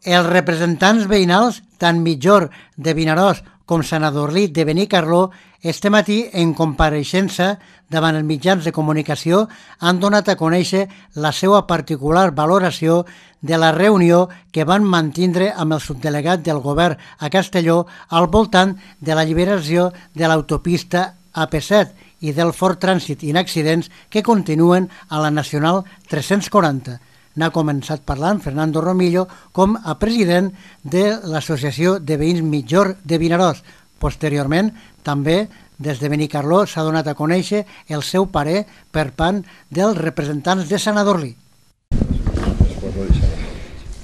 Els representants veïnals, tant Mitjor de Vinaròs com Sant Sadurní de Benicarló, este matí, en compareixença davant els mitjans de comunicació, han donat a conèixer la seva particular valoració de la reunió que van mantindre amb el subdelegat del govern a Castelló al voltant de l'alliberació de l'autopista AP7 i del fort trànsit en accidents que continuen a la Nacional 340. N'ha començat parlant Fernando Romillo com a president de l'Associació de Veïns Mitjor de Vinaròs. Posteriorment, també des de Benicarló s'ha donat a conèixer el seu parer per part dels representants de Sant Sadurní.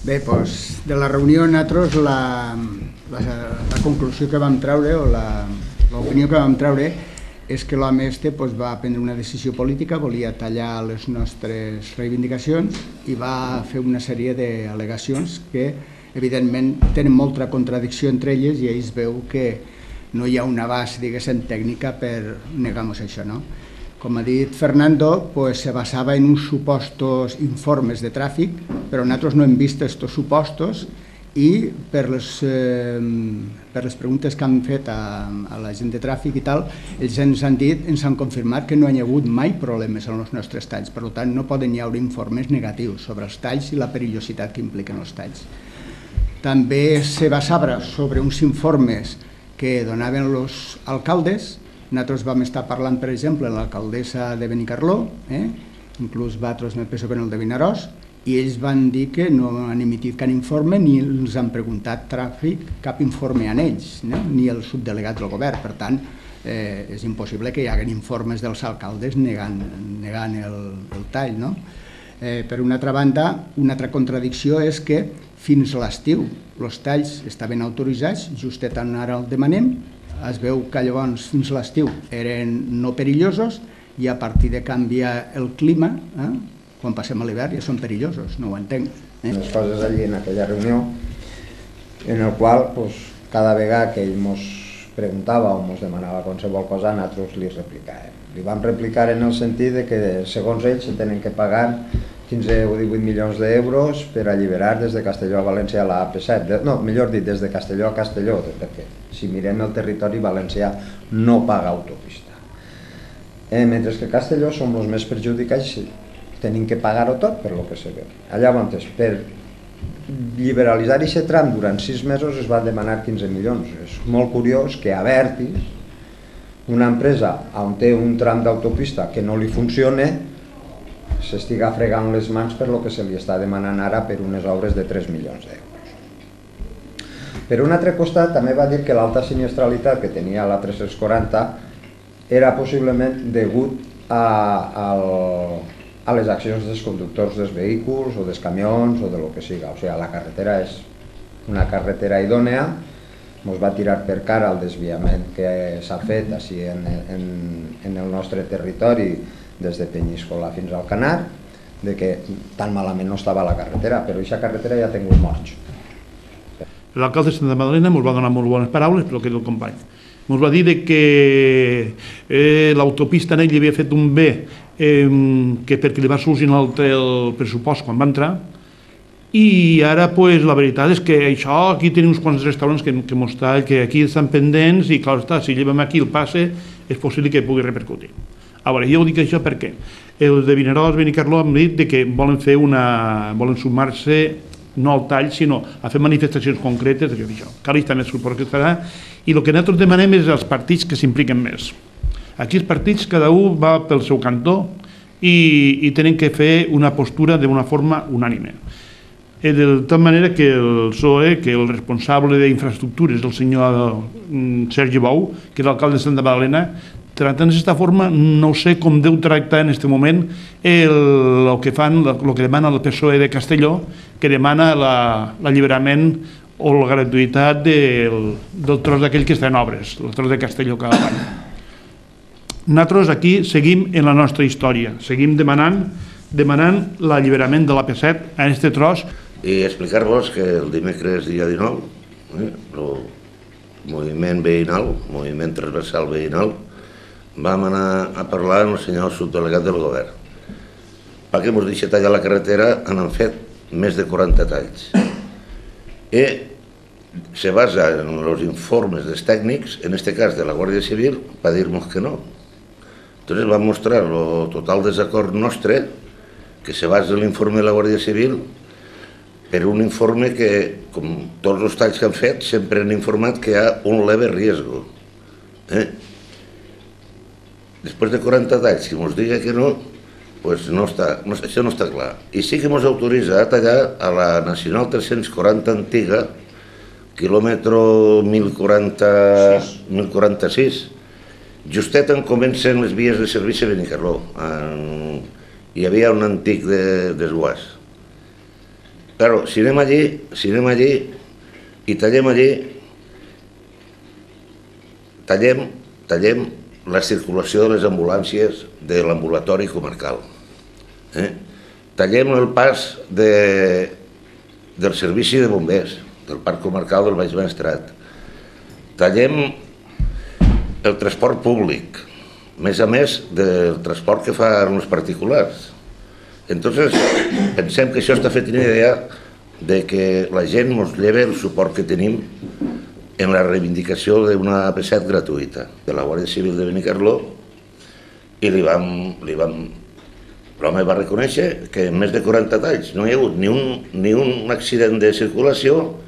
Bé, doncs, de la reunió nosaltres la conclusió que vam treure o l'opinió que vam treure és que l'home va prendre una decisió política, volia tallar les nostres reivindicacions i va fer una sèrie d'al·legacions que evidentment tenen molta contradicció entre elles i ells veu que no hi ha una base, diguéssim, tècnica per negar-nos això, no? Com ha dit Fernando, se basava en uns supostos informes de tràfic, però nosaltres no hem vist aquests supostos i per les preguntes que han fet a la gent de tràfic i tal, ells ens han confirmat que no hi ha hagut mai problemes en els nostres talls, per tant no poden hi haver informes negatius sobre els talls i la perillositat que impliquen els talls. També se basava sobre uns informes que donaven els alcaldes. Nosaltres vam estar parlant, per exemple, amb l'alcaldessa de Benicarló, inclús vosaltres me penso que en el de Vinaròs, i ells van dir que no han emitit cap informe ni els han preguntat tràfic cap informe a ells, ni el subdelegat del govern. Per tant, és impossible que hi hagi informes dels alcaldes negant el tall. Per una altra banda, una altra contradicció és que fins a l'estiu els talls estaven autoritzats, justet ara el demanem, es veu que llavors fins a l'estiu eren no perillosos i a partir de canviar el clima, quan passem a l'hivern ja són perillosos, no ho entenc. Les coses allí en aquella reunió, en el qual cada vegada que ell ens preguntava o ens demanava qualsevol cosa, nosaltres li replicàvem. Li vam replicar en el sentit que segons ells se tenen que pagar 15 o 18 milions d'euros per alliberar des de Castelló a València la AP7, no, millor dit, des de Castelló a Castelló, perquè si mirem el territori valencià no paga autopista. Mentre que Castelló som els més perjudicats, tenim que pagar-ho tot per lo que se veu. Llavors, per liberalitzar aquest tram durant 6 mesos es van demanar 15 milions. És molt curiós que a Abertis, una empresa on té un tram d'autopista que no li funciona, s'estiga fregant les mans per lo que se li està demanant ara per unes obres de 3 milions d'euros. Per un altre costat, també va dir que l'alta sinistralitat que tenia la 340 era possiblement degut a les accions dels conductors dels vehicles o dels camions o de lo que siga. O sigui, la carretera és una carretera idònea, ens va tirar per cara el desviament que s'ha fet així en el nostre territori des de Penyíscola fins al Canar, de que tan malament no estava la carretera, però aquesta carretera ja ha tingut morts. L'alcalde de Santa Madalena ens va donar molt bones paraules, però que el company. Ens va dir que l'autopista en ell li havia fet un bé perquè li va solucionar el pressupost quan va entrar, i ara la veritat és que això, aquí tenim uns quants restaurants que aquí estan pendents i clar està, si llevem aquí el passe és possible que pugui repercutir. A veure, jo dic això perquè els de Vinaròs, Benicarló han dit que volen sumar-se no al tall, sinó a fer manifestacions concretes d'això. Cali també suposo que estarà, i el que nosaltres demanem és als partits que s'impliquen més. Aquí els partits, cada un va pel seu cantó i tenen que fer una postura d'una forma unànime. De tal manera que el PSOE, que el responsable d'infraestructures, el senyor Sergi Bou, que és l'alcalde de Santa Magdalena, tractant d'esta forma, no sé com deu tractar en aquest moment el que demana el PSOE de Castelló, que demana l'alliberament o la gratuïtat del tros d'aquell que està en obres, el tros de Castelló cada any. Nosaltres aquí seguim en la nostra història, seguim demanant l'alliberament de l'AP7 a aquest tros. I explicar-vos que el dimecres dia 19, el moviment veïnal, moviment transversal veïnal, vam anar a parlar amb el senyor subdelegat del govern. Perquè ens deixa tallar la carretera, han fet més de 40 talls. se basa en los informes dels tècnics, en este cas de la Guàrdia Civil, para dir-nos que no. Entonces va mostrar el total desacord nostre, que se basa en l'informe de la Guàrdia Civil, per un informe que, com tots els talls que han fet, sempre han informat que hi ha un leve riesgo. Després de 40 talls, si ens diga que no, pues no està, això no està clar. I sí que ens autoritza a tallar a la Nacional 340 antiga, quilòmetre 1046, justet on comencen les vies de servici a Benicarló. Hi havia un antic desguàs. Claro, si anem allí i tallem allí, tallem la circulació de les ambulàncies de l'ambulatori comarcal. Tallem el pas del servici de bombers, del parc comarcal del Baix Maestrat. Tallem el transport públic, a més del transport que fan els particulars. Entonces, pensem que això està fet una idea de que la gent ens lleva el suport que tenim en la reivindicació d'una AP7 gratuïta de la Guàrdia Civil de Benicarló, i l'home va reconèixer que en més de 40 talls no hi ha hagut ni un accident de circulació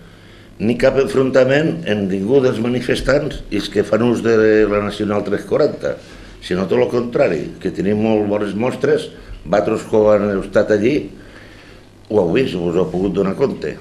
ni cap enfrontament amb ningú dels manifestants i els que fan ús de la Nacional 340, sinó tot el contrari, que tenim molt bones mostres, vosaltres que heu estat allí ho heu vist, us heu pogut donar compte.